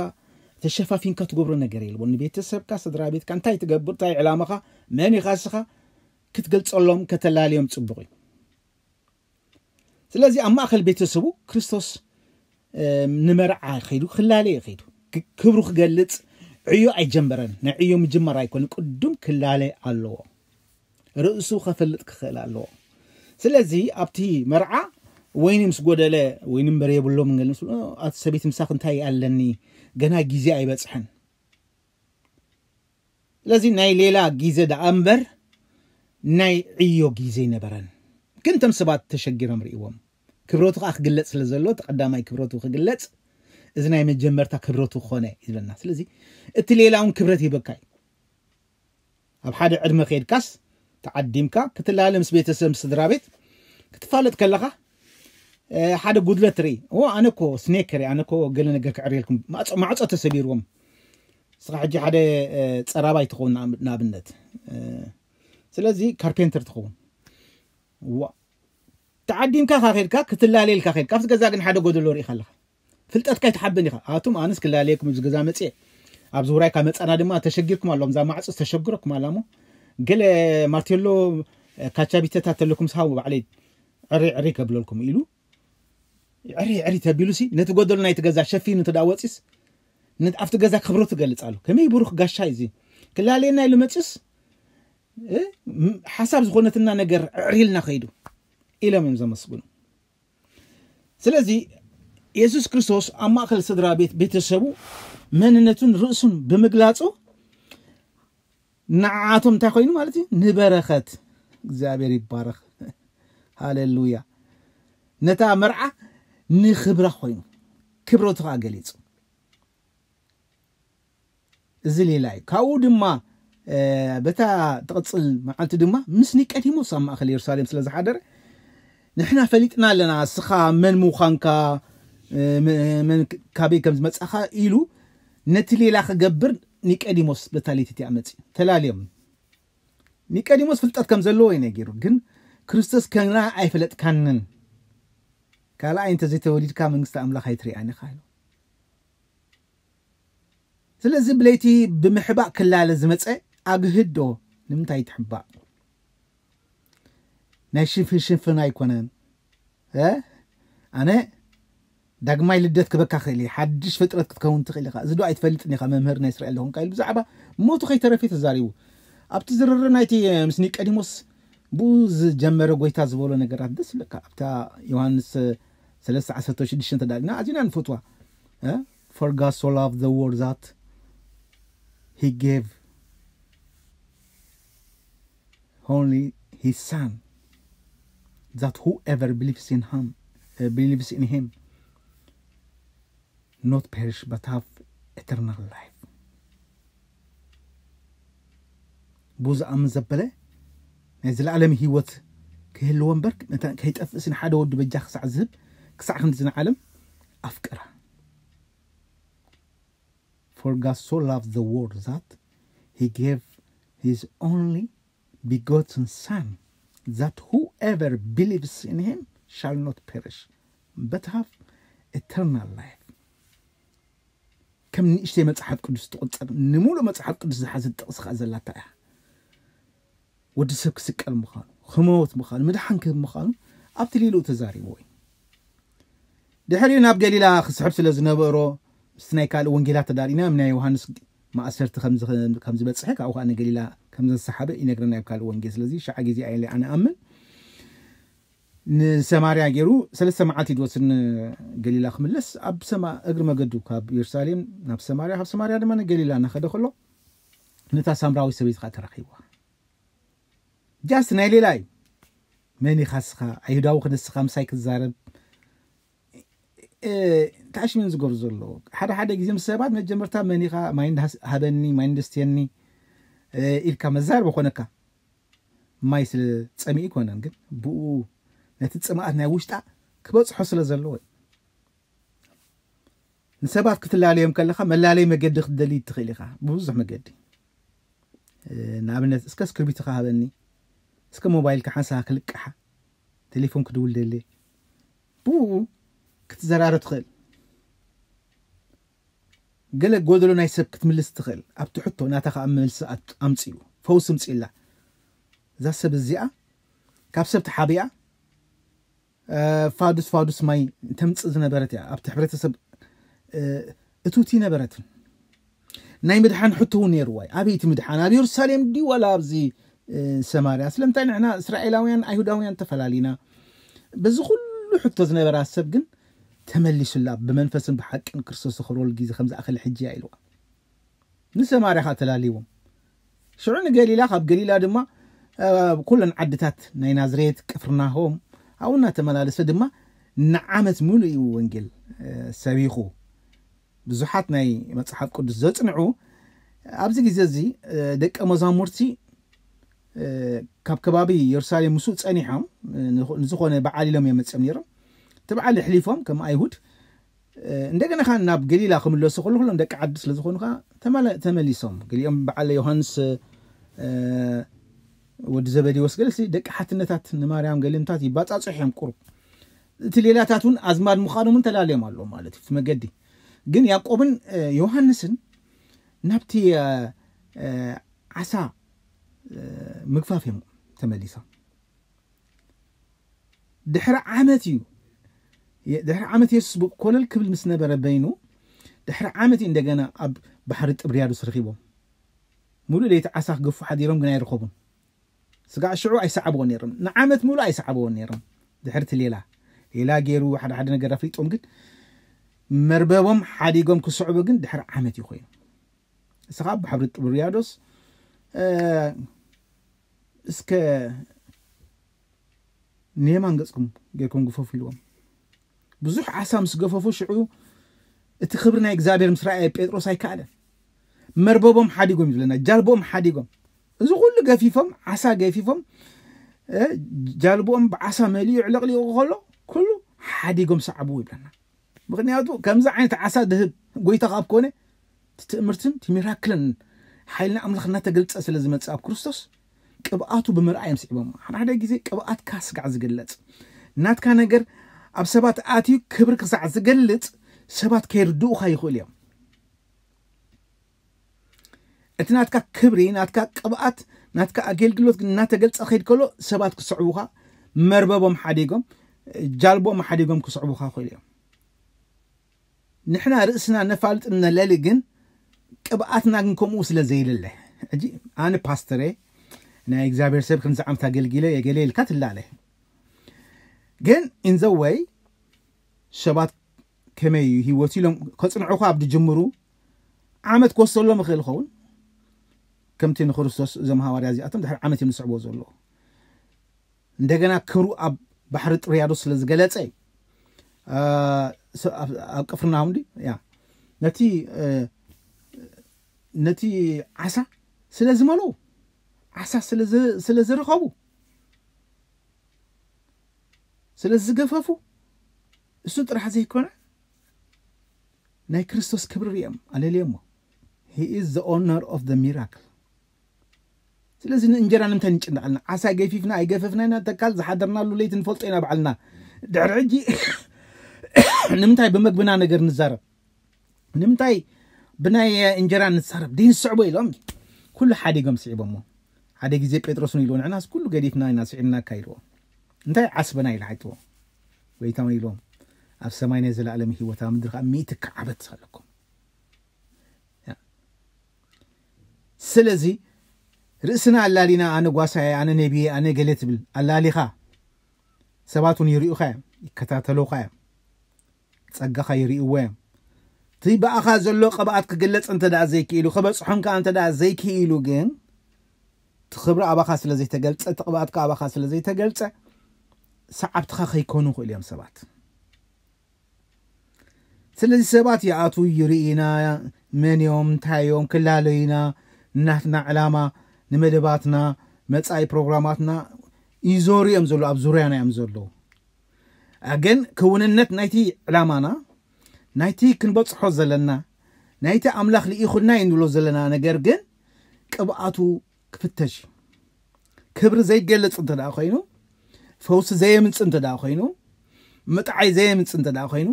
ተሸፋፊንካ ትገብሮ ነገር የልቦ። ንቤተሰብካ፣ ስድራ ቤትካ እንታይ ትገብር፣ እንታይ ዕላማኻ፣ መን ኢኻ እስኻ ክትገልጸሎም፣ ከተላልዮም ጽቡቕ እዩ። ስለዚ ኣብ ማእኸል ቤተሰቡ ክርስቶስ ንመርዓ ከይዱ ክላለ እዩ ከይዱ። ክብሩ ክገልጽ ዕዮ ኣይጀመረን። ናይ ዕዮ ምጅማር ኣይኮነ፣ ቅዱም ክላለ ኣለዎ። ርእሱ ከፈልጥ ክኽእል ኣለዎ። ስለዚ ኣብቲ መርዓ ወይኒ ምስ ጎደለ፣ ወይኒ እምበር የብሎም፣ ገለ ምስ ኣቲ ሰበይቲ ምሳኽ እንታይ ኣለኒ፣ ገና ግዜ ኣይበጽሐን። ስለዚ ናይ ሌላ ግዜ ደኣ እምበር ናይ ዕዮ ግዜ ኣይነበረን። ግን እቶም ሰባት ተሸጊሮም ርእይዎም። ክብረቱ ከዓ ክግለጽ ስለ ዘሎ፣ እቲ ቀዳማይ ክብረቱ ክግለጽ፣ እዚ ናይ መጀመርታ ክብረቱ ኮነ ይብለና። ስለዚ እቲ ሌላ እውን ክብረት ይበካ እዩ። ኣብ ሓደ ዕድመ ከይድካስ ተዓዲምካ ክትላለ ምስ ቤተሰብ፣ ምስ ስድራ ቤት ክትፋለጥ ከለኻ ሓደ ጉድለት ትርኢ። ኦ ኣነ እኮ ስኔከር፣ ኣነ እኮ ገለ ነገር ክዕርየልኩም፣ ማዕጾ ተሰቢርዎም። ንስኻ ሕጂ ሓደ ጸራባይ ትኸውን ንኣብነት። ስለዚ ካርፔንተር ትኸውን። ተዓዲምካ ካ ከድካ ክትላለየልካ ከድካ ኣብቲ ገዛ ግን ሓደ ጎደሎ ርኢኻ ኣለኻ። ፍልጠትካ ይትሓብን ኢኻ። ኣቱም ኣነስ ክላለየኩም እዚ ገዛ መፅየ፣ ኣብ ዙራይካ መፃና ድማ ተሸጊርኩም ኣለኹም። እዛ ማዕፆ ተሸግረኩም ኣላ እሞ ገለ ማርቴሎ ካቻቢተታት ተለኩም ስሃቡ ባዕለይ ዕሪ ዕሪ ከብለልኩም ኢሉ ዕሪ ዕሪ ተቢሉ ሲ ነቲ ጎደሎ ናይቲ ገዛ ሸፊኑ እንተ ደኣ ወፂስ ነት ኣብቲ ገዛ ክብረቱ ገልፅ ኣሎ። ከመይ ብሩኽ ጋሻ እዩ እዚ። ክላለየና ኢሉ መፅስ ሓሳብ ዝኾነትና ነገር ዕሪልና ከይዱ ኢሎም እዮም ዘመስግኑ። ስለዚ የሱስ ክርስቶስ ኣብ ማእከል ስድራ ቤት ቤተሰቡ መንነቱን ርእሱን ብምግላጹ ንዓኣቶም እንታይ ኮይኑ ማለት እዩ? ንበረኸት። እግዚኣብሔር ይባረኽ። ሃሌሉያ። ነታ መርዓ ንኽብራ ኮይኑ ክብረቱ ከዓ ገሊጹ። እዚ ሌላ እዩ። ካብኡ ድማ በታ ትቕጽል መዓልቲ ድማ ምስ ኒቀዲሞስ ኣብ ማእከል የሩሳሌም ስለ ዝሓደረ ንሕና ፈሊጥና ኣለና እስኻ መን ምዃንካ፣ መን ካበይ ከም ዝመጻኻ ኢሉ ነቲ ሌላ ክገብር ኒቀዲሞስ በታ ለይቲ እቲኣ መጺኡ ተላልዮም። ኒቀዲሞስ ፍልጠት ከም ዘለዎ እዩ ነጊሩ፣ ግን ክርስቶስ ከና ኣይፈለጥካንን፣ ካልኣይ እንተዘይተወሊድካ መንግስቲ ኣምላኽ ኣይትሪኣን ኢኻ ኢሉ። ስለዚ ብለይቲ ብምሕባእ ክላለ ዝመፀ ኣግህዶ ንምንታይ ትሕባእ? ናይ ሽንፍን ሽንፍን ኣይኮነን። ኣነ ዳግማይ ልደት ክበካ ክእል እየ፣ ሓድሽ ፍጥረት ክትከውን ትኽእል ኢኻ። እዚ ዶ ኣይትፈልጥን ኢኻ መምህር ናይ እስራኤል ዝኾንካ ኢሉ ብዛዕባ ሞቱ ከይተረፈ ተዛሪቡ። ኣብቲ ዝርርብ ናይቲ ምስ ኒቀዲሞስ ብኡ ዝጀመረ ጎይታ ዝበሎ ነገራት ደስ ይብለካ። ኣብታ ዮሃንስ ሰለስተ ዓሰርተ ሽዱሽተ ተዳሊና ኣዚና ንፈትዋ። For God so loved the world that he gave only his son, that whoever believes in him, uh, believes in him not perish but have eternal life. ብኡ ዝኣምን ዘበለ ናይ ዘለኣለም ህይወት ክህልዎ እምበር ከይጠፍእስ ንሓደ ወዱ በጃ ክሳዕ ዝህብ ክሳዕ ክንዲ ዝንዓለም ኣፍቀራ። For God so loved the world that he gave his only begotten Son, that whoever believes in him shall not perish but have eternal life. ከም ንእሽተይ መጽሓፍ ቅዱስ ትቑጸር፣ ንምሉእ መጽሓፍ ቅዱስ ዝሓዘት ጥቕሲ ከኣ ዘላታ እያ። ወዲ ሰብ ክስቀል ምዃኑ፣ ክመውት ምዃኑ፣ ምድሓን ክህብ ምዃኑ ኣብቲ ሌልኡ ተዛሪብዎ እዩ። ድሕሪኡ ናብ ገሊላ ክስሕብ ስለ ዝነበሮ ምስቲ ናይ ካልእ ወንጌላት ተዳሪና ናይ ዮሃንስ ማእሰርቲ ከም ዝበፅሐ ካብኡ ከዓ ንገሊላ ከም ዘሰሓበ ይነግረና ኣብ ካልእ ወንጌል። ስለዚ ሸዓ ግዜ ኣየለ ኣነ ኣምን ንሰማርያ ገይሩ ሰለስተ መዓልቲ ድወስድ ንገሊላ ክምለስ ኣብ ሰማ እግሪ መገዱ ካብ ኢየሩሳሌም ናብ ሰማርያ ካብ ሰማርያ ድማ ንገሊላ እናኸደ ከሎ ነታ ሳምራዊ ሰበይቲ ከዓ ተራኺብዋ። ጃስት ናይ ሌላ እዩ። መን ኢኻ እስኻ ኣይሁዳዊ ክንስኻ ምሳይ ክዛረብ ታሽሚን ዝገሩ ዘሎ ሓደ ሓደ ግዜ ምስ ሰባት መጀመርታ መን ኢኻ ማይ ሃበኒ ማይ እንደስትየኒ ኢልካ መዛርብ ኮነካ። ማይ ስለ ጸሚኡ ኣይኮነን፣ ግን ብኡ ነቲ ጽምኣት ናይ ውሽጣ ክበጽሖ ስለ ዘለዎ እዩ። ንሰባት ክትላለዮም ከለኻ መላለይ መገዲ ክትደሊ ትኽእል ኢኻ፣ ብብዙሕ መገዲ። ንኣብነት እስከ እስክርቢትኻ ሃበኒ፣ እስከ ሞባይልካ ሓንሳብ ክልቅሓ፣ ቴሌፎን ክድውል ደሊ፣ ብኡ ክትዘራረብ ትኽእል። ገለ ጎደሎ ናይ ሰብ ክትምልስ ትኽእል። ኣብቲ ሕቶ ናታ ከኣ መልሲ ኣምጽኡ፣ ፈውሲ ምጽእላ። እዛ ሰብ እዚኣ ካብ ሰብ ተሓቢኣ ፋዱስ ፋዱስ ማይ ተምጽእ ዝነበረት እያ። ኣብቲ ሕብረተሰብ እቱቲ ነበረትን ናይ ምድሓን ሕቶ እውን ነይርዋ እዩ። ኣበይቲ ምድሓን ኣብ የሩሳሌም ድዩ ዋላ ኣብዚ ሰማርያ? ስለምንታይ ንሕና እስራኤላውያን ኣይሁዳውያን ተፈላሊና? በዚ ኩሉ ሕቶ ዝነበራ ሰብ ግን ተመሊሱላ፣ ብመንፈስን ብሓቅን ክርስቶስ ዝኸብረሉ ግዜ ከም ዝኣኸለ ሕጂ እያ ኢልዋ። ንሰማርያ ኸዓ ተላልይዎም። ሽዑ ንገሊላ፣ ካብ ገሊላ ድማ ኩለን ዓድታት ናይ ናዝሬት ቅፍርናሆም ኣብኡ እናተመላለሰ ድማ ንዓመት ሙሉእ እዩ ወንጌል ሰቢኹ። ብዙሓት ናይ መጽሓፍ ቅዱስ ዘጽንዑ ኣብዚ ግዜ እዚ ደቀ መዛሙርቲ ካብ ከባቢ የሩሳሌም ምስኡ ጸኒሖም ንዝኾነ በዓል ኢሎም እዮም መጽኦም ነይሮም። እቲ በዓል ኣሕሊፎም ከም ኣይሁድ እንደገና ኸዓ ናብ ገሊላ ክምለሱ ከሎ ኩሎም ደቂ ዓዲ ስለ ዝኾኑ ኸዓ ተመሊሶም። ገሊኦም በዓል ዮሃንስ ወዲ ዘበዴዎስ ገለሲ ደቂ ሓትነታት ንማርያም ገሊኦምታት ይባጻጹ እዮም ቁሩብ። እቲ ሌላታት እውን ኣዝማድ ምዃኖም እውን ተላለዮም ኣለዉ ማለት እዩ እቲ መገዲ። ግን ያዕቆብን ዮሃንስን ናብቲ ዓሳ ምግፋፍ እዮም ተመሊሶም። ድሕሪ ዓመት እዩ ድሕሪ ዓመት የሱስ ኮለል ክብል ምስ ነበረ በይኑ ድሕሪ ዓመት እዩ እንደገና ኣብ ባሕሪ ጥብርያዶስ ረኺቦም። ሙሉእ ለይቲ ዓሳ ክገፉ ሓዲሮም ግን ኣይረኸቡን። ስጋዕ ሽዑ ኣይሰዓብዎ ነይሮም፣ ንዓመት ሙሉእ ኣይሰዓብዎ ነይሮም። ድሕርቲ ሌላ ሌላ ገይሩ ሓደ ሓደ ነገር ኣፍሊጦም ግን መርበቦም ሓዲጎም ክስዕቡ ግን ድሕሪ ዓመት እዩ ኮይኑ። እስኻ ባሕሪ ጥብርያዶስ እስከ ንየማን ገጽኩም ጌርኩም ግፈፉ ኢልዎም። ብዙሕ ዓሳ ምስ ገፈፉ ሽዑ እቲ ክብሪ ናይ እግዚኣብሔር ምስ ረኣየ ጴጥሮስ ኣይከኣለን። መርበቦም ሓዲጎም እዩ ዝብለና፣ ጃልቦም ሓዲጎም። እዚ ኩሉ ገፊፎም፣ ዓሳ ገፊፎም፣ ጃልቦም ብዓሳ መሊኡ ዕለቕሊቑ ከሎ ኩሉ ሓዲጎም ሰዓብዎ ይብለና። ምኽንያቱ ከምዚ ዓይነት ዓሳ ድህብ ጎይታ ካብ ኮነ ትእምርትን ትሚራክልን ሓይልና ኣምላኽ እናተገልጸ ስለ ዝመጽእ ኣብ ክርስቶስ ቅብኣቱ ብምርኣይ እዮም ስዒቦም። ሓደ ሓደ ግዜ ቅብኣትካ ስጋዕ ዝግለጽ ናትካ ነገር ኣብ ሰባት ኣትዩ ክብሪ ክሳዕ ዝገልጽ ሰባት ከይርድኡኻ ይኽእሉ እዮም። እቲ ናትካ ክብሪ ናትካ ቅብኣት ናትካ ኣገልግሎት ግን እናተገልጸ ከይድ ከሎ ሰባት ክስዕቡኻ መርበቦም ሓዲጎም ጃልቦም ሓዲጎም ክስዕቡኻ ይኽእሉ እዮም። ንሕና ርእስና ነፋልጥ ነለሊ ግን ቅብኣትና ግን ከምኡ ስለ ዘይልለ ሕጂ ኣነ ፓስተረ ናይ እግዚኣብሔር ሰብ ከምዚ ዓመት ኣገልጊለ የገለ ኢልካ ትላለ። ግን ኢንዘወይ ሰባት ከመይ እዩ ህይወት ኢሎም ከፅንዑኻ ኣብ ድጅምሩ ዓመት ክወስደሎም ይኽእል ይኸውን። ከምቲ ንክርስቶስ እዞም ሃዋርያ እዚኣቶም ድሕሪ ዓመት እዮም ዝስዕብዎ ዘለዎ። እንደገና ክብሩ ኣብ ባሕሪ ጥርያዶስ ስለ ዝገለጸ ኣብ ቅፍርናሆም ድዩ ያ ነቲ ነቲ ዓሳ ስለ ዝመልኡ ዓሳ ስለ ዝረኸቡ ስለ ዝገፈፉ እሱ ጥራሕ ዘይኮነ ናይ ክርስቶስ ክብሪ ሪኦም ኣለልዮሞ። He is the owner of the miracle። ስለዚ ንእንጀራ ንምንታይ ንጭነቕ ኣለና? ዓሳ ገፊፍና ኣይገፈፍና ኢና ተካል ዝሓደርናሉ ለይቲ ንፈልጦ ኢና ባዕልና። ድሕሪ ሕጂ ንምንታይ ብመግብና ነገር ንዛረብ? ንምንታይ ብናይ እንጀራ ንዛረብ? ደይ ንስዕቦ ኢሎም ኩሉ ሓዲጎም ስዒቦሞ። ሓደ ግዜ ጴጥሮስ እውን ኢልዎ ንዕናስ ኩሉ ገዲፍና ኢና ስዒብናካ ኢልዎ። እንታይ ዓስብና ኢሉ ሓትዎ። ጎይታ እውን ኢልዎም ኣብ ሰማይ ናይ ዘለኣለም ህይወት ኣብ ምድሪ ከዓ ሚእቲ ከዓበት ኣለኩም። ስለዚ ርእስና ኣላሊና ኣነ ጓሳየ ኣነ ነቢየ ኣነ ገለ ትብል ኣላሊኻ ሰባት እውን ይርእዩኻ እዮም ይከታተሉኻ እዮም ጸጋኻ ይርእይዎ እዮም። እቲ ብኣኻ ዘሎ ቅብኣት ክግለጽ እንተ ደኣ ዘይክኢሉ ክበጽሖም ከኣ እንተ ደኣ ዘይክኢሉ ግን እቲ ክብሪ ኣባኻ ስለ ዘይተገልጸ እቲ ቅብኣትካ ኣባኻ ስለ ዘይተገልጸ ሰዓብትኻ ከይኮኑ ይኽእሉ እዮም ሰባት። ስለዚ ሰባት ይኣትዉ ይርእዩና መን እዮም እንታይ እዮም ክላለዩና ናትና ዕላማ ንመደባትና፣ መጻኢ ፕሮግራማትና ይዞሩ እዮም ዘለዉ፣ ኣብ ዙርያና እዮም ዘለዉ። ግን ክውንነት ናይቲ ዕላማና፣ ናይቲ ክንበጽሖ ዘለና፣ ናይቲ ኣምላኽ ልኢኹና እዩ ንብሎ ዘለና ነገር ግን ቅብኣቱ ክፍተሽ እዩ። ክብሪ ዘይገልጽ እንተ ደኣ ኮይኑ፣ ፈውሲ ዘየምጽእ እንተ ደኣ ኮይኑ፣ ምጥዓይ ዘየምጽእ እንተ ደኣ ኮይኑ፣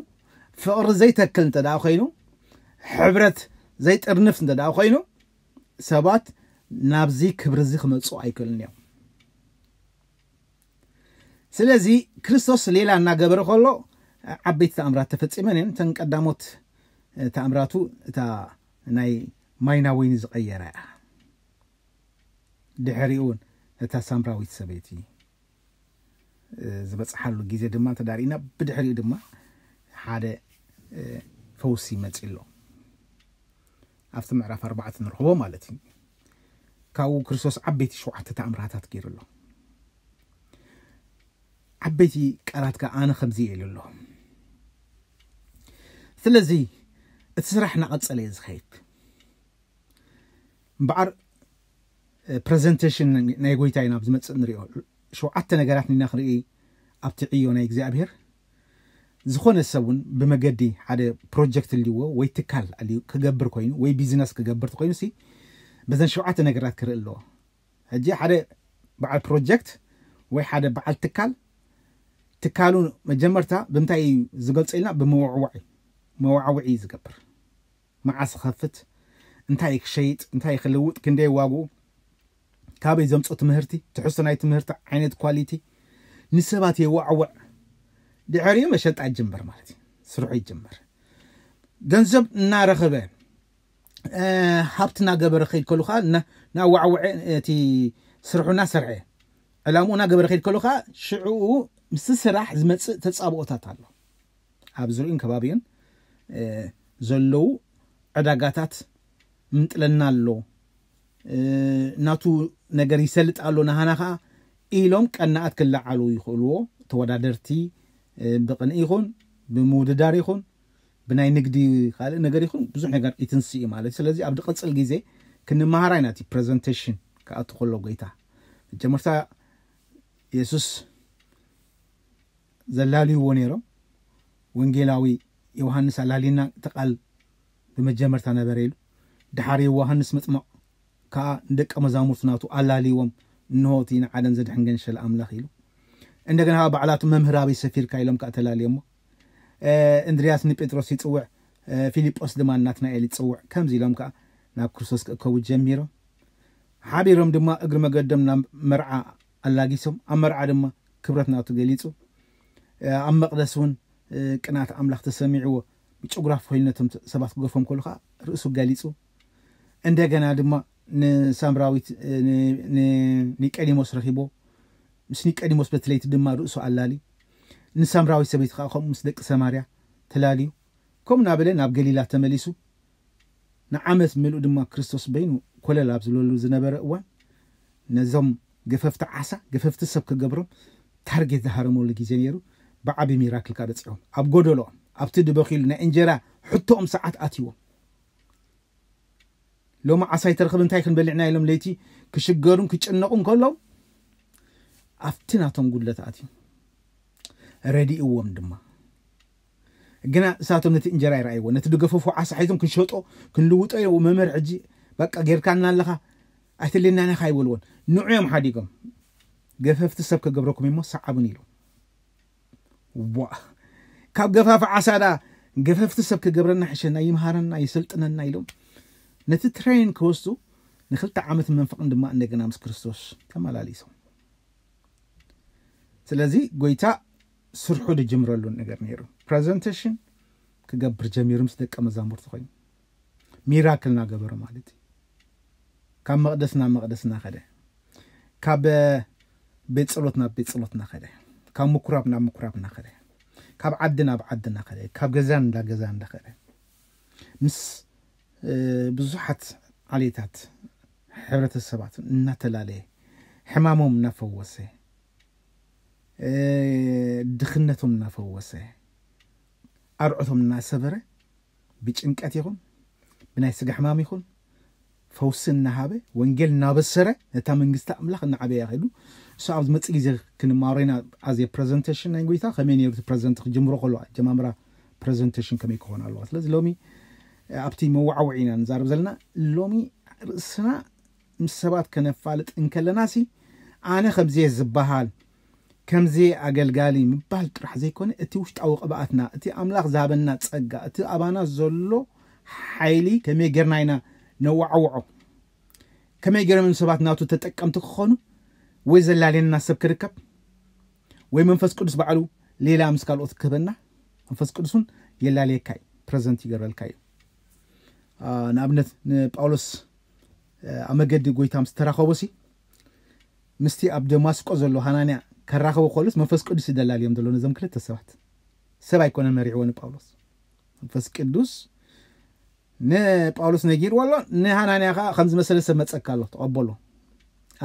ፍቕሪ ዘይተክል እንተ ደኣ ኮይኑ፣ ሕብረት ዘይጥርንፍ እንተ ደኣ ኮይኑ፣ ሰባት ናብዚ ክብሪ እዚ ክመጹ ኣይክእሉን እዮም። ስለዚ ክርስቶስ ሌላ እናገበረ ከሎ ዓበይቲ ተኣምራት ተፈጺመን እየን። እተን ቀዳሞት ተኣምራቱ እታ ናይ ማይ ናብ ወይኒ ዝቐየረ እያ። ድሕሪኡ እውን እታ ሳምራዊት ሰበይቲ ዝበጽሓሉ ግዜ ድማ ተዳሪእና፣ ብድሕሪኡ ድማ ሓደ ፈውሲ መጺ ኣሎ። ኣብቲ ምዕራፍ ኣርባዕተ ንረኽቦ ማለት እዩ። ካብኡ ክርስቶስ ዓበይቲ ሸውዓተ ተኣምራታት ገይሩ ኣሎ። ዓበይቲ ቃላት ከኣ ኣነ ከምዚ ኢሉ ኣሎ። ስለዚ እቲ ስራሕ እናቐጸለ እዩ ዝኸይድ። እምበኣር ፕሬዘንቴሽን ናይ ጎይታ ኢና ኣብ ዝመጽእ ንሪኦ። ሸውዓተ ነገራት ኢና ክንርኢ ኣብቲ ዕዮ ናይ እግዚኣብሔር። ዝኾነ ሰብ እውን ብመገዲ ሓደ ፕሮጀክት ኣልዎ ወይ ትካል ኣልዩ ክገብር ኮይኑ ወይ ቢዝነስ ክገብር ተኮይኑ ሲ በዘን ሸውዓተ ነገራት ክርኢ ኣለዎ። ሕጂ ሓደ በዓል ፕሮጀክት ወይ ሓደ በዓል ትካል ትካሉ መጀመርታ ብምንታይ እዩ ዝገልጾ ኢልና? ብመዋዕዋዒ መዋዕውዒ እዩ ዝገብር። መዓስ ክኸፍት፣ እንታይ ክሸይጥ፣ እንታይ ክልውጥ፣ ክንደይ ዋግኡ፣ ካበይ ዘምጾ ትምህርቲ፣ ትሕዝቶ ናይ ትምህርቲ ዓይነት ኳሊቲ ንሰባት የዋዕውዕ። ድሕሪኡ መሸጣ ይጅምር ማለት እዩ። ስርሑ ይጅምር። ገንዘብ እናረኸበ ሃብቲ እናገበረ ከይድ ከሉ ከዓ እናዋዕወዐ እቲ ስርሑ እናሰርሐ ዕላምኡ እናገበረ ከይድ ከሉ ከዓ ሽዕኡ ምስቲ ስራሕ ዝመፅእ ተፃብኦታት ኣሎ። ኣብ ዙሪኡን ከባቢኡን ዘለዉ ዕዳጋታት ምንጥለና ኣሎ፣ ናቱ ነገር ይሰልጥ ኣሎ፣ ናሃና ከዓ ኢሎም ቀናኣት ክለዓሉ ይኽእልዎ። ተወዳደርቲ ብቕንኢ ይኹን ብምውድዳር ይኹን ብናይ ንግዲ ካልእ ነገር ይኹን ብዙሕ ነገር ይትንስእ እዩ ማለት እዩ። ስለዚ ኣብ ዝቐፅል ግዜ ክንመሃራ ኢና። እቲ ፕሬዘንቴሽን ክኣቱ ከሎ ጎይታ መጀመርታ የሱስ ዘላልይዎ ነይሮም። ወንጌላዊ ዮሃንስ ኣላሊና እቲ ቃል ብመጀመርታ ነበረ ኢሉ። ድሓር ዮሃንስ መጥመቕ ከኣ ንደቀ መዛሙርቱ ናቱ ኣላልይዎም፣ እንሆ እቲ ንዓለም ዘድሕን ገንሸል ኣምላኽ ኢሉ። እንደገና ከኣ ባዕላቱ መምህር ኣበይ ሰፊርካ ኢሎም ከኣ ተላልዮሞ። እንድርያስ ንጴጥሮስ ይጽውዕ፣ ፊልጶስ ድማ ናትናኤል ይጽውዕ። ከምዚ ኢሎም ከኣ ናብ ክርስቶስ ክእከቡ ጀሚሮም። ሓቢሮም ድማ እግሪ መገዶም ናብ መርዓ ኣላጊሶም። ኣብ መርዓ ድማ ክብረት ናቱ ገሊጹ። ኣብ መቕደስ እውን ቅንኣት ኣምላኽ ተሰሚዕዎ ብጭጉራፍ ኮይኑ ነቶም ሰባት ክገፎም ከሉ ከዓ ርእሱ ገሊጹ። እንደገና ድማ ንሳምራዊት ንኒቀዲሞስ ረኺቦ። ምስ ኒቀዲሞስ በቲ ለይቲ ድማ ርእሱ ኣላልዩ። ንሳምራዊት ሰበይቲ ከዓ ከምኡ ምስ ደቂ ሰማርያ ተላልዩ። ከምኡ እናበለ ናብ ገሊላ ተመሊሱ። ንዓመት ምሉእ ድማ ክርስቶስ በይኑ ኮለል ኣብ ዝብለሉ ዝነበረ እዋን ነዞም ገፈፍቲ ዓሳ ገፈፍቲ ሰብ ክገብሮም ታርጌት ዝሃረመሉ ግዜ ነይሩ። ብዓቢ ሚራክል ከኣ በጺሖም ኣብ ጎደሎኦም ኣብቲ ድበኺሉ ናይ እንጀራ ሕቶኦም ሰዓት ኣትይዎም። ሎሚ ዓሳ ይተርኽብ እንታይ ክንበልዕና ኢሎም ለይቲ ክሽገሩን ክጭነቑን ከለዉ ኣብቲ ናቶም ጉድለት ኣትዩ ረዲእዎም ድማ። ግና እሳቶም ነቲ እንጀራ ይረኣይዎ ነቲ ድገፈፎ ዓሳ ሒዞም ክንሸጦ ክንልውጦ ኢሎም መምህር ሕጂ በቃ ጌርካና ኣለኻ ኣይትልናና ኢኻ ኣይበልዎን። ንዑ እዮም ሓዲጎም ገፈፍቲ ሰብ ክገብረኩም እሞ ሰዓቡን ኢሎም። ዋ ካብ ገፋፍ ዓሳ ዳ ገፈፍቲ ሰብ ክገብረና ሕሸና ይምሃረና ይሰልጥነና ኢሎም ነቲ ትሬን ክወስዱ ንክልተ ዓመት መንፈቕን ድማ እንደገና ምስ ክርስቶስ ተመላሊሶም። ስለዚ ጎይታ ስርሑ ዝጅምረሉ ነገር ነይሩ። ፕሬዘንቴሽን ክገብር ጀሚሩ ምስ ደቀ መዛሙርቲ ኮይኑ ሚራክል እናገበረ ማለት እዩ። ካብ መቕደስ ናብ መቕደስ እናኸደ፣ ካብ ቤት ጸሎት ናብ ቤት ጸሎት እናኸደ፣ ካብ ምኩራብ ናብ ምኩራብ እናኸደ፣ ካብ ዓዲ ናብ ዓዲ እናኸደ፣ ካብ ገዛ ናብ ገዛ እናኸደ ምስ ብዙሓት ዓሌታት ሕብረተሰባት እናተላለየ ሕማሞም እናፈወሰ ድኽነቶም እናፈወሰ ኣርዑቶም እናሰበረ ብጭንቀት ይኹን ብናይ ስጋ ሕማም ይኹን ፈውሲ እናሃበ፣ ወንጌል እናበሰረ፣ ነታ መንግስቲ ኣምላኽ እናዓበያ ከይዱ። እሱ ኣብ ዝመጽእ ግዜ ክንማሮ ኢና። ኣዜ ፕረዘንቴሽን ናይ ጎይታ ከመይ ነይሩ? እቲ ፕረዘንት ክጅምሮ ከሎ ኣጀማምራ ፕረዘንቴሽን ከመይ ክኾን ኣለዋ? ስለዚ ሎሚ ኣብቲ መዋዕውዒ ኢና ንዛረብ ዘለና። ሎሚ ርእስና ምስ ሰባት ከነፋልጥ እንከለና ሲ፣ ኣነ ከምዚ እየ ዝበሃል፣ ከምዚ እየ ኣገልጋሊ ምባል ጥራሕ ዘይኮነ፣ እቲ ውሽጣዊ ቅብኣትና፣ እቲ ኣምላኽ ዝሃበና ጸጋ፣ እቲ ኣባና ዘሎ ሓይሊ ከመይ ጌርና ኢና ነዋዕውዖ? ከመይ ገይሮም እዮም ሰባት ናቱ ተጠቀምቲ ክኾኑ? ወይ ዘላለየና ሰብ ክርከብ፣ ወይ መንፈስ ቅዱስ ባዕሉ ሌላ ምስ ካልኦት ክህበና፣ መንፈስ ቅዱስ እውን የላለየካ እዩ፣ ፕረዘንት ይገረልካ እዩ። ንኣብነት ንጳውሎስ ኣብ መገዲ ጎይታ ምስ ተራኸቦ ሲ፣ ምስቲ ኣብ ደማስቆ ዘሎ ሃናንያ ከራኸቦ ከሉስ መንፈስ ቅዱስ ይደላልዮም ዘሎ ነዞም ክልተ ሰባት። ሰብ ኣይኮነን መሪዕዎ ንጳውሎስ፣ መንፈስ ቅዱስ ንጳውሎስ ነጊርዎ ኣሎ። ንሃናንያ ከዓ ከም ዝመሰለ ሰብ መፀካ ኣሎ፣ ተቐበሎ፣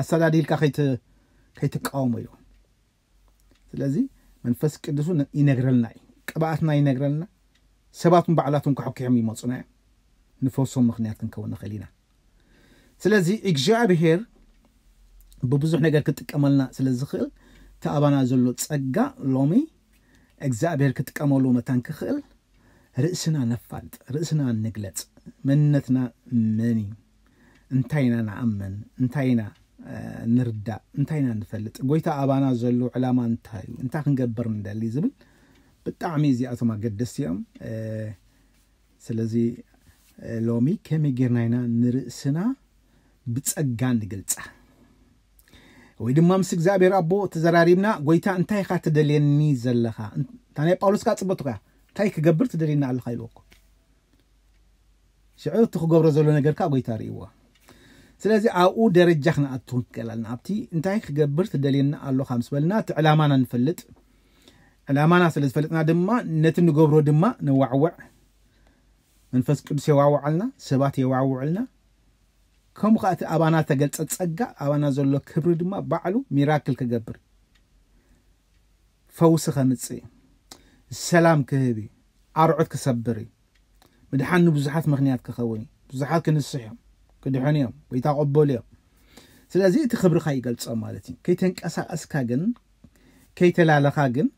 ኣሰዳዲልካ ከይትቃወሞ ኢሉ። ስለዚ መንፈስ ቅዱስ ይነግረልና እዩ፣ ቅብኣትና ይነግረልና። ሰባትን ባዕላትን ከሕኪሖም ይመፁና እዮም። ንፈውሶም ምክንያት ክንከውን ንኽእል ኢና። ስለዚ እግዚኣብሄር ብብዙሕ ነገር ክጥቀመልና ስለ ዝኽእል፣ እቲ ኣባና ዘሎ ጸጋ ሎሚ እግዚኣብሄር ክጥቀመሉ መታን ክኽእል፣ ርእስና ነፋልጥ፣ ርእስና ንግለጽ። መንነትና መን እዩ? እንታይ ኢና ንኣምን? እንታይ ኢና ንርዳእ? እንታይ ኢና ንፈልጥ? ጎይታ ኣባና ዘሎ ዕላማ እንታይ እዩ? እንታይ ክንገብር ንደሊ ዝብል ብጣዕሚ እዚኣቶም ኣገደስቲ እዮም። ስለዚ ሎሚ ከመይ ጌርና ኢና ንርእስና ብጸጋ ንግልጻ? ወይ ድማ ምስ እግዚኣብሔር ኣቦ ተዘራሪብና፣ ጎይታ እንታይ ኢኻ ትደልየኒ ዘለኻ? እታ ናይ ጳውሎስ ከዓ ጽበቱ ከያ እንታይ ክገብር ትደልየኒ ኣለኻ ኢልዎ እኮ። ሽዑ እቲ ክገብሮ ዘሎ ነገር ከዓ ጎይታ ርእይዎ። ስለዚ ኣብኡ ደረጃ ክንኣቱ ንክእል ኣለና። ኣብቲ እንታይ ክገብር ትደልየኒ ኣለኻ ምስ በልና እቲ ዕላማና ንፈልጥ። ዕላማና ስለ ዝፈልጥና ድማ ነቲ ንገብሮ ድማ ነዋዕውዕ። መንፈስ ቅዱስ የዋውዓልና፣ ሰባት የዋውዕልና። ከምኡ ከዓ እቲ ኣባና ተገልጸ ጸጋ፣ ኣባና ዘሎ ክብሪ ድማ ባዕሉ ሚራክል ክገብር፣ ፈውሲ ከምጽእ፣ ሰላም ክህብ እዩ፣ ኣርዑት ክሰብር እዩ፣ ምድሓን ንብዙሓት ምኽንያት ክኸውን እዩ። ብዙሓት ክንስሕ እዮም፣ ክድሕኑ እዮም፣ ወይ ታቐበሉ እዮም። ስለዚ እቲ ክብርኻ ይገልጾ ማለት እዩ። ከይተንቀሳቀስካ ግን፣ ከይተላለኻ ግን፣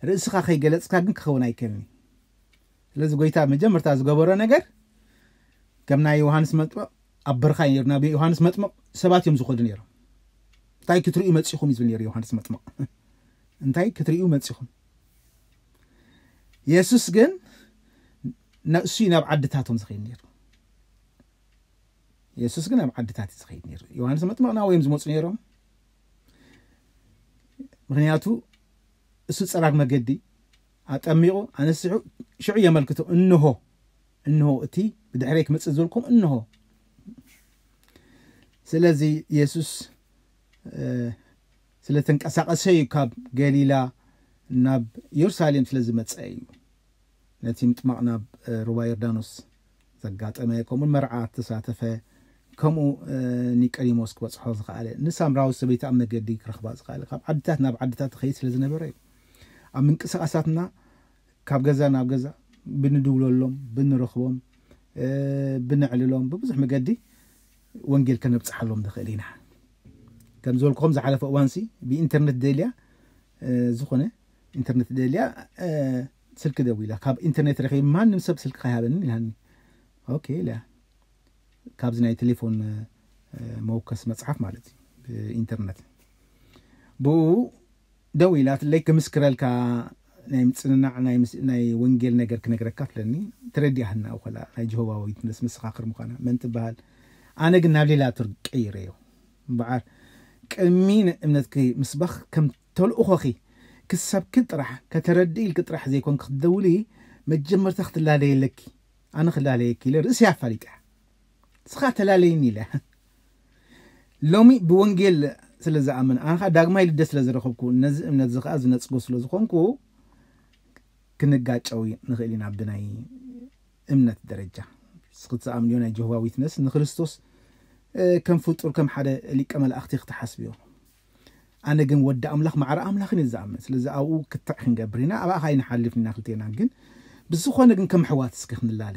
ርእስኻ ከይገለጽካ ግን ክኸውን ኣይከልን እዩ። ስለዚ ጎይታ መጀመርታ ዝገበሮ ነገር ከም ናይ ዮሃንስ መጥምቕ ኣብ በርኻ እዩ ነይሩ። ናብ ዮሃንስ መጥምቕ ሰባት እዮም ዝኸዱ ነይሮም። እንታይ ክትርእዩ መጺኹም እዩ ዝብል ነይሩ ዮሃንስ መጥምቕ። እንታይ ክትርእዩ መጺኹም? የሱስ ግን ንሱ እዩ ናብ ዓድታቶም ዝኸይድ ነይሩ። የሱስ ግን ናብ ዓድታት እዩ ዝኸይድ ነይሩ። ዮሃንስ መጥምቕ ናብኡ እዮም ዝመጹ ነይሮም። ምኽንያቱ እሱ ጸራግ መገዲ ኣጠሚቑ ኣነስሑ ሽዑ የመልክቶ፣ እንሆ፣ እንሆ እቲ ብድሕረይ ክመጽእ ዝበልኩም እንሆ። ስለዚ የሱስ ስለ ተንቀሳቐሰ እዩ ካብ ገሊላ ናብ የሩሳሌም ስለ ዝመጸ እዩ። ነቲ ምጥማቕ ናብ ሩባ ዮርዳኖስ ዘጋጠመ፣ ከምኡ መርዓ ተሳተፈ፣ ከምኡ ኒቀዲሞስ ክበጽሖ ዝኸኣለ፣ ንሳምራዊ ሰበይቲ ኣብ መገዲ ክረኽባ ዝኸኣለ፣ ካብ ዓድታት ናብ ዓድታት ትኸይድ ስለ ዝነበረ እዩ። ኣብ ምንቅስቃሳትና ካብ ገዛ ናብ ገዛ ብንድውለሎም፣ ብንረኽቦም፣ ብነዕልሎም፣ ብብዙሕ መገዲ ወንጌል ከነብጽሓሎም ንኽእል ኢና። ከም ዝበልኩኹም ዝሓለፈ እዋንሲ ብኢንተርኔት ደልያ፣ ዝኾነ ኢንተርኔት ደልያ፣ ስልኪ ደዊላ፣ ካብ ኢንተርኔት ረኺብ ማንም ሰብ ስልኪ ከይሃበኒ ኢላኒ። ኦኬ ኢለ ካብዚ ናይ ቴሌፎን መወከሲ መጽሓፍ ማለት እዩ፣ ብኢንተርኔት ብኡ ደው ኢላትለይ፣ ክምስክረልካ ናይ ምጽንናዕ ናይ ምስ-፣ ናይ ወንጌል ነገር ክነግረካ ትለኒ። ተረዲኣህና እኮ ላ ናይ ጀሆባ ዊትነስ መሰኻኽር ምዃና መን ትበሃል? ኣነ ግን ናብ ሌላ ቱር ቀይረዮ። እምበኣር ቅድሚ ንእምነትኪ ምስባኽ ከም ተልእኾኺ ክሰብኪ ጥራሕ ከተረድኢ ኢልኪ ጥራሕ ዘይኮንኪ ክትደውሊ፣ መጀመርታ ክትላለየለኪ፣ ኣነ ክላለየኪ ኢለ ርእሰይ ኣፋሊጠ። ንስኻ ተላለይኒ ኢለ። ሎሚ ብወንጌል ስለ ዝኣምን፣ ኣነ ኸኣ ዳግማይ ልደት ስለ ዝረኸብኩ፣ ነዚ እምነት እዚ ኸኣ ዝነጽጎ ስለ ዝኾንኩ፣ ክንጋጨው ንኽእል ኢና ብናይ እምነት ደረጃ። ንስኺ ትኣምንዮ ናይ ጀሆቫ ዊትነስ ንክርስቶስ፣ እ፣ ከም ፍጡር፣ ከም ሓደ ሊቀ መላእኽቲ ክትሓስብዮ። ኣነ ግን ወዲ ኣምላኽ ማዕረ ኣምላኽን እየ ዝኣምን። ስለዚ ኣብኡ ክትዕ ክንገብር ኢና፣ ኣብኣ ኸኣ ኣይንሓልፍን ኢና ክልቴና። ግን ብዝኾነ ግን ከም ኣሕዋት እስኪ ክንላለ።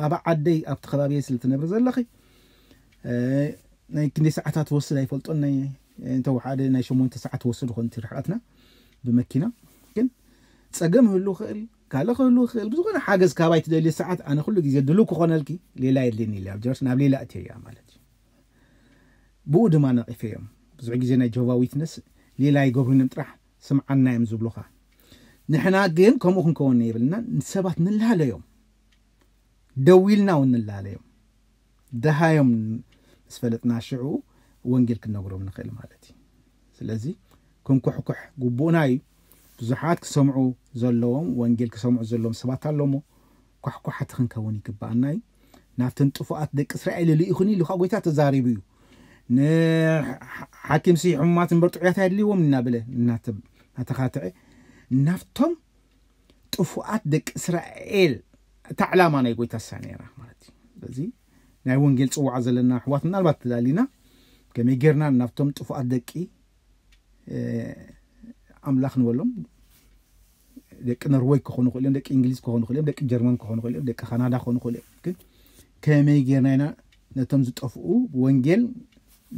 ኣብ ዓደይ፣ ኣብቲ ከባቢየ ስለ ትነብሪ ዘለኺ፣ ናይ ክንደይ ሰዓታት ወስድ ኣይፈልጦን። ናይ እንተ ሓደ ናይ ሸሞንተ ሰዓት ወስድ ኾን ርሕቀትና ብመኪና። ግን ጸገም ህሉ ክእል ካልእ ክህሉ ክእል ብዝኾነ ሓገዝ ካባይ ትደልዮ ሰዓት ኣነ ኩሉ ግዜ ድሉ ክኾነልኪ ሌላ የድልየኒ ኢለ ኣብ ጀርስ ናብ ሌላ እትዮ እያ ማለት እዩ። ብኡ ድማ ነቒፈ እዮም። ብዙሕ ግዜ ናይ ጆቫ ዊትነስ ሌላ ይገብሩንም ጥራሕ ስምዓና እዮም ዝብሉኻ። ንሕና ግን ከምኡ ክንከውን የብልና። ንሰባት ንላለዮም፣ ደዊልና እውን ንላለዮም። ደሃዮም ምስ ፈለጥና ሽዑ ወንጌል ክንነግሮም ንኽእል ማለት እዩ። ስለዚ ክንኩሕኩሕ ግቡእና እዩ። ብዙሓት ክሰምዑ ዘለዎም፣ ወንጌል ክሰምዑ ዘለዎም ሰባት ኣለሞ ኳሕኳሓቲ ክንከውን ይግባኣና እዩ። ናብተን ጥፉኣት ደቂ እስራኤል ልኢኹኒ ኢሉ ኸዓ ጎይታ ተዛሪቡ እዩ። ንሓኪምሲ ሕሙማት እምበር ጥዑያት ኣየድልይዎም እናበለ እናተ- እናተኻትዐ ናብቶም ጥፉኣት ደቂ እስራኤል እታ ዕላማ ናይ ጎይታ እሳ ነይራ ማለት እዩ። ስለዚ ናይ ወንጌል ጽዋዕ ዘለና ኣሕዋት ምናልባት ትላሊና ከመይ ጌርና ናብቶም ጥፉኣት ደቂ ኣምላኽ ንበሎም። ደቂ ኖርወይ ክኾኑ ክእል እዮም፣ ደቂ እንግሊዝ ክኾኑ ክእል እዮም፣ ደቂ ጀርመን ክኾኑ ክእል እዮም፣ ደቂ ካናዳ ክኾኑ ክእል እዮም። ግን ከመይ ጌርና ኢና ነቶም ዝጠፍኡ ወንጌል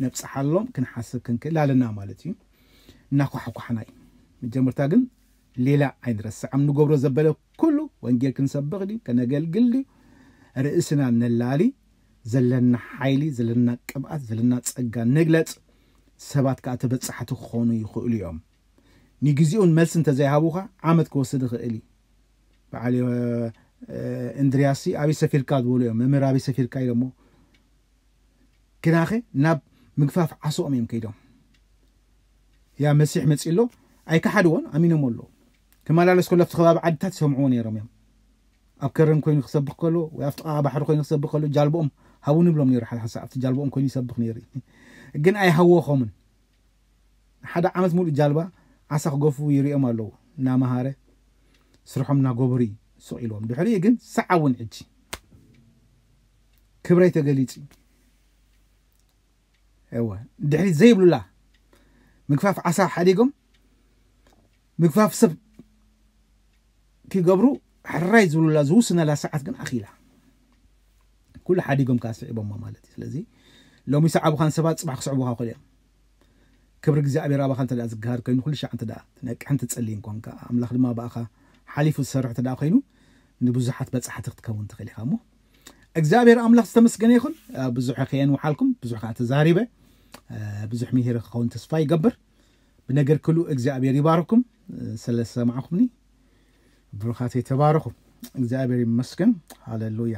ነብጽሓሎም ክንሓስብ ክንክእል ኣለና ማለት እዩ። እናኳሕኳሕና እዩ። መጀመርታ ግን ሌላ ኣይንረስዕ። ኣብ ንገብሮ ዘበለ ኩሉ ወንጌል ክንሰብኽ ድዩ፣ ከነገልግል ድዩ፣ ርእስና ነላሊ፣ ዘለና ሓይሊ፣ ዘለና ቅብኣት፣ ዘለና ጸጋ ንግለጽ። ሰባት ከኣ ተበጻሕቲ ክኾኑ ይኽእሉ እዮም። ንግዜኡን መልሲ እንተዘይሃቡኻ ዓመት ክወስድ ይኽእል እዩ። በዓል እንድርያሲ ኣበይ ሰፊርካ ዝበሉ እዮም። መምህር ኣበይ ሰፊርካ ኢሎሞ። ግናኸ ናብ ምግፋፍ ዓሶኦም እዮም ከይዶም። ያ መሲሕ መጺ ኣሎ ኣይከሓድዎን ኣሚኖም ኣለዉ። ክመላለስ ከሎ ኣብቲ ከባቢ ዓድታት ይሰምዕዎ ነይሮም እዮም። ኣብ ከረን ኮይኑ ክሰብኽ ከሎ ወይ ኣብቲ ቃ ባሕሪ ኮይኑ ክሰብኽ ከሎ ጃልቦኦም ሃቡ ንብሎም ነይሩ። ሓደ ሓንሳእ ኣብቲ ጃልቦኦም ኮይኑ ይሰብኽ ነይሩ። ግን ኣይሃወኾምን። ሓደ ዓመት ሙሉእ ጃልባ ዓሳ ክገፉ ይሪኦም ኣለዉ። እናመሃረ ስርሖም እናገበሩ እዩ ስቕ ኢልዎም። ድሕሪኡ ግን ሰዓብ እውን ሕጂ ክብረይ ተገሊጹ። እወ ድሕሪት ዘይብሉላ ምግፋፍ ዓሳ ሓዲጎም ምግፋፍ ሰብ ክገብሩ ሕራይ ዝብሉላ ዝውስነላ ሰዓት ግን ኣኺላ። ኩሉ ሓዲጎም ከዓ ስዒቦማ ማለት እዩ። ስለዚ ሎሚ ሰዓቡኻን ሰባት ጽባሕ ክስዕቡኻ ክእል እዮም። ክብሪ እግዚኣብሔር ኣባኻ እንተ ደኣ ዝገሃር ኮይኑ ኩሉ ሻዕ እንተ ደኣ ትነቅሕን ትጸልይን ኮንካ ኣምላኽ ድማ ብኣኻ ሓሊፉ ዝሰርሕ እንተ ደኣ ኮይኑ ንብዙሓት በጻሕቲ ክትከውን ትኽእል ኢኻ። እሞ እግዚኣብሔር ኣምላኽ ዝተመስገነ ይኹን። ብዙሕ ከየን ውሓልኩም ብዙሕ ከዓ ተዛሪበ ብዙሕ ምሂር ክኸውን ተስፋ ይገብር። ብነገር ክሉ እግዚኣብሔር ይባርኩም። ስለዝሰማዕኩምኒ ብሩኻት የተባረኹ። እግዚኣብሔር ይመስገን። ሃሌሉያ።